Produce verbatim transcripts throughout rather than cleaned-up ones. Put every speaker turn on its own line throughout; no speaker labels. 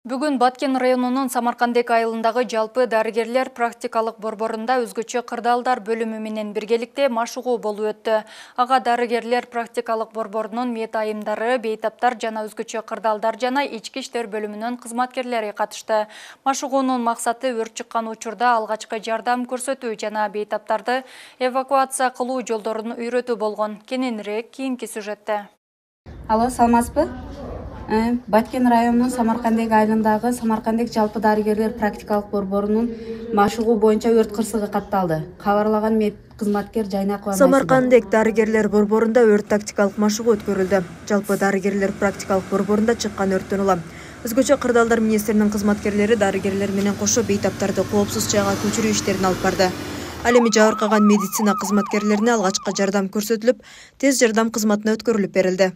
Бүгүн Баткен районунун Самаркандек айылындагы жалпы дарыгерлер практикалык борборунда өзгөчө кырдаалдар бөлүмү менен биргеликте машыгуу болуп өттү. Ага дарыгерлер практикалык борборунун мет айымдары, бейтаптар жана өзгөчө кырдаалдар жана ички иштер бөлүмүнүн кызматкерлери катышты. Машыгуунун максаты өрт чыккан учурда алгачкы жардам көрсөтүү жана бейтаптарды эвакуация кылуу жолдорун үйрөтүү болгон. Кененирээк кийинки сюжетте.
Алло, саламатсызбы? Баткен районунун Самаркандек айылындагы Самаркандек жалпы дарыгерлер практикалык борборунун машыгуу боюнча өрт кырсыгы катталды. Кабарлаган мет кызматкер Жайнакова.
Самаркандек дарыгерлер борборунда өрт тактикалык машыгуу өткөрүлдү. Жалпы дарыгерлер практикалык борборунда чыккан өрттөн улам өзгөчө кырдаалдар министринин кызматкерлери дарыгерлер менен кошо бейтаптарды коопсуз жайга көчүрүү иштерин алып барды. Ал эми жабыркаган медицина кызматкерлерине алгачкы жардам көрсөтүлүп, тез жардам кызматына өткөрүлүп берилди.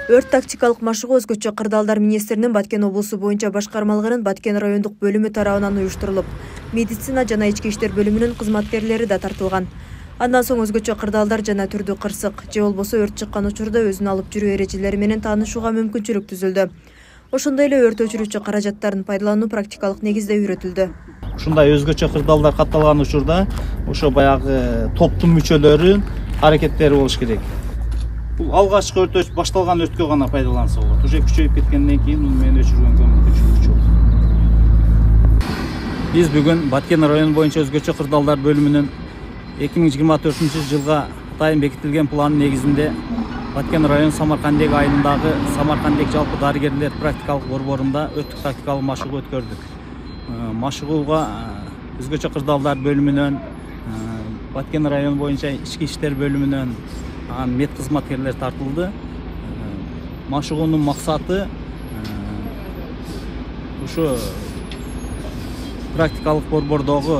Өрт тактикалык машыгуу өзгөчө кырдаалдар министринин Баткен облусу боюнча башкармалыгынын Баткен райондук бөлүмү тарабынан уюштурулуп, медицина жана ички иштер бөлүмүнүн кызматкерлери да тартылган. Андан соң өзгөчө кырдаалдар жана түрдүү кырсык же болбосо өрт чыккан учурда өзүн алып жүрүү эрежелери менен таанышууга мүмкүнчүлүк түзүлдү. Ошондой эле өрт өчүрүүчү каражаттарын пайдалануу практикалык негизде үйрөтүлдү.
Ушундай өзгөчө кырдаалдар катталган учурда ошо баягы топтун мүчөлөрү аракеттери болуш керек. Бул алгачкы өрт башталган өрткө гана пайдаланса болот. Уже күчөйүп кеткенден кийин муну менен өчүргөнгө мүмкүнчүлүк жок. Биз бүгүн Баткен району боюнча өзгөчө кырдаалдар бөлүмүнүн эки миң жыйырма төртүнчү жылга атайын бекитилген планын негизинде Баткен району Самаркандек айылындагы Самаркандек жалпы дарыгерлер практикалык борборунда өрттүк тактикалык машыгуу өткөрдүк. Машыгууга өзгөчө кырдаалдар бөлүмүнөн, Баткен району боюнча ички иштер бөлүмүнөн мет кызматкерлер тартылды. Машыгуунун максаты ушу практикалык борбордогу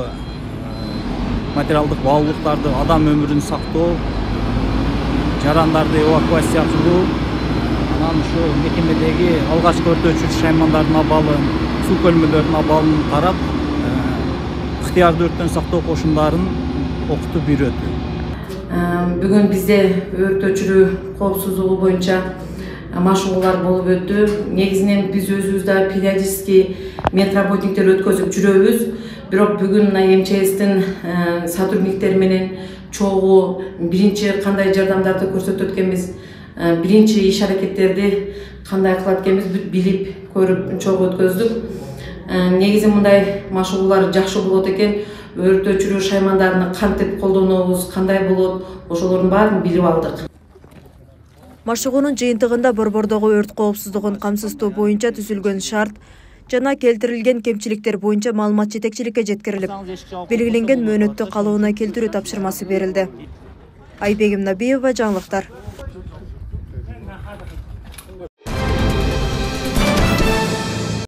материалдык баалуулуктарды, адам өмүрүн сактоо, жарандарды эвакуация кылуу, анан ушу мекемедеги алгачкы өрт өчүрүүчү шаймандардын абалын, суу көлмөлөрүнүн абалын карап, ыктыярдуу өрттөн сактоо кошундарын окутуп үйрөтүү.
Бүгүн бизде өрт өчүрүү коопсуздугу боюнча машыгуулар болуп өттү. Негизинен биз өзүбүз да периодически медработниктер өткөзүп жүрөбүз. Бирок бүгүн эм че эстин сотрудниктери менен чогуу биринчи кандай жардамдарды көрсөтөт экенбиз, биринчи иш аракеттерди кандай кылат экенбиз билип көрүп чогуу өткөздүк. Негизи мындай машыгуулар жакшы болот экен. Өрт өчүрүү шаймандарын кантип колдонобуз, кандай болот, ошолордун баарын билип алдык.
Машыгуунун жыйынтыгында борбордогу өрт коопсуздугун камсыздоо боюнча түзүлгөн шарт жана келтирилген кемчиликтер боюнча маалымат жетекчиликке жеткирилип, белгиленген мөөнөттө калыбына келтирүү тапшырмасы берилди. Айбегим Набиева, жаңылыктар.